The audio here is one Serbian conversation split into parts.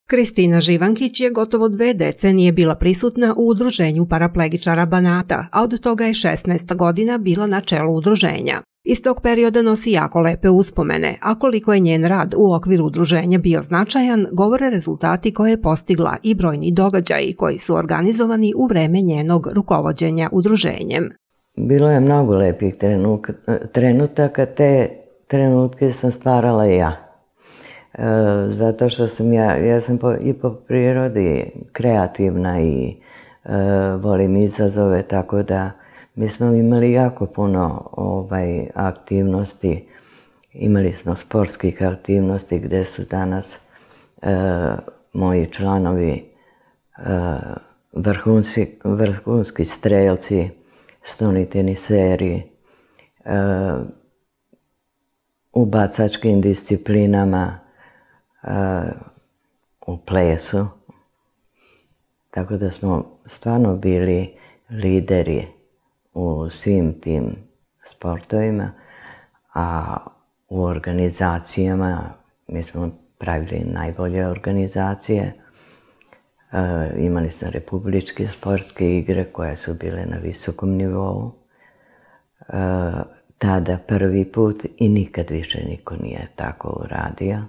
Kristina Živankić je gotovo 2 decenije bila prisutna u udruženju paraplegičara Banata, a od toga je 16 godina bila na čelu udruženja. Iz tog perioda nosi jako lepe uspomene, a koliko je njen rad u okviru udruženja bio značajan, govore rezultati koje je postigla i brojni događaji koji su organizovani u vreme njenog rukovođenja udruženjem. Bilo je mnogo lepih trenutaka, te trenutke sam stvarala ja. Zato što sam ja sam i po prirodi kreativna i volim izazove, tako da mi smo imali jako puno aktivnosti. Imali smo sportskih aktivnosti gde su danas moji članovi vrhunski strelci, stoni teniseri, u bacačkim disciplinama, u plesu. Tako da smo stvarno bili lideri u svim tim sportovima, a u organizacijama mi smo pravili najbolje organizacije. Imali smo republičke sportske igre koje su bile na visokom nivou. Tada prvi put i nikad više niko nije tako uradio.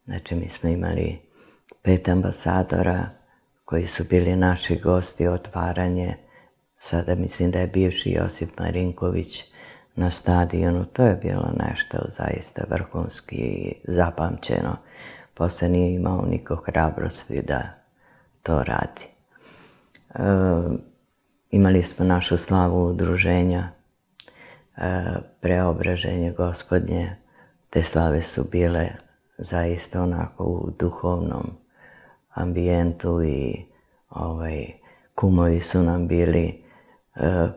Znači, mi smo imali 5 ambasadora koji su bili naši gosti, otvaranje. Sada mislim da je bivši Josip Marinković na stadionu. To je bilo nešto zaista vrhunski i zapamćeno. Posle nije imao niko hrabrosti da to radi. Imali smo našu slavu udruženja, Preobraženje Gospodnje. Te slave su bile zaista onako u duhovnom ambijentu i kumovi su nam bili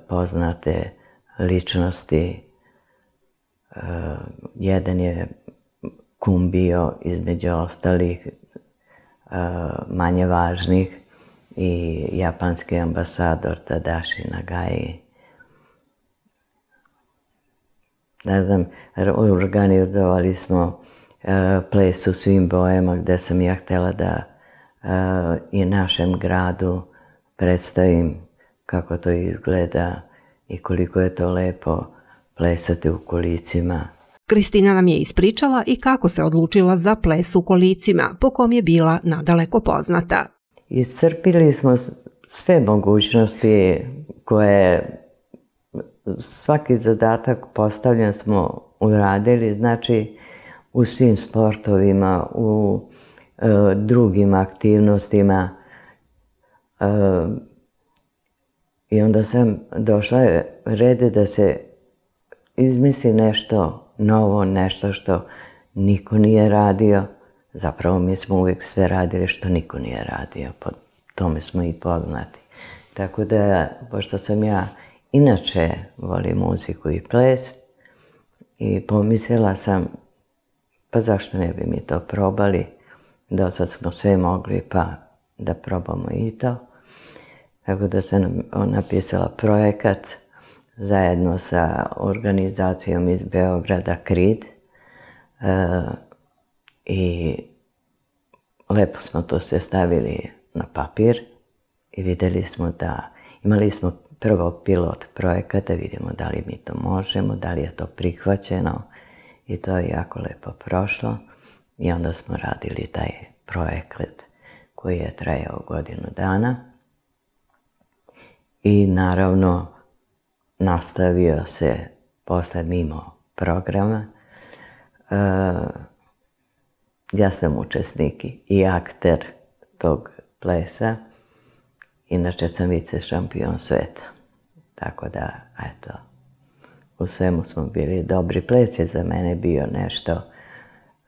poznate ličnosti. Jedan je kum bio između ostalih manje važnih i japanski ambasador Tadashi Nagai. Ne znam, organizovali smo ples u svim bojama gde sam ja htjela da i našem gradu predstavim kako to izgleda i koliko je to lepo plesati u kolicima. Kristina nam je ispričala i kako se odlučila za ples u kolicima, po kom je bila nadaleko poznata. Iscrpili smo sve mogućnosti koje svaki zadatak postavljen smo uradili, znači u svim sportovima, u drugim aktivnostima. I onda sam došla red da se izmisli nešto novo, nešto što niko nije radio. Zapravo mi smo uvijek sve radili što niko nije radio, po tome smo i poznati. Tako da, pošto sam ja inače volim muziku i ples, i pomislila sam, pa zašto ne bi mi to probali, do sad smo sve mogli, pa da probamo i to. Tako da sam napisala projekat zajedno sa organizacijom iz Beograda KRID i lepo smo to sve stavili na papir i vidjeli smo da, imali smo prvo pilot projekat da vidimo da li mi to možemo, da li je to prihvaćeno i to je jako lepo prošlo i onda smo radili taj projekat koji je trajao 1 godinu dana i naravno nastavio se posle mimo programa. Ja sam učesnik i akter tog plesa, inače sam vice šampion sveta. Tako da, eto, u svemu smo bili dobri. Ples je za mene bio nešto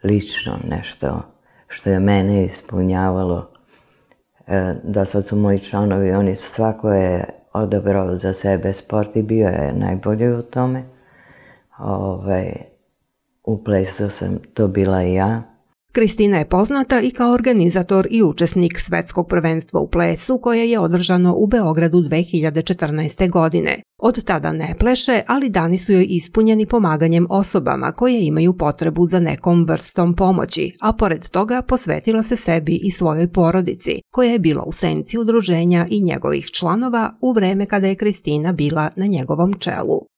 lično, nešto što je mene ispunjavalo. Da sad su moji članovi, oni su svako je odabrao za sebe sport i bio je najbolji u tome. U plesu sam to bila i ja. Kristina je poznata i kao organizator i učesnik Svetskog prvenstva u plesu koje je održano u Beogradu 2014. godine. Od tada ne pleše, ali dani su joj ispunjeni pomaganjem osobama koje imaju potrebu za nekom vrstom pomoći, a pored toga posvetila se sebi i svojoj porodici, koja je bila u senci udruženja i njegovih članova u vreme kada je Kristina bila na njegovom čelu.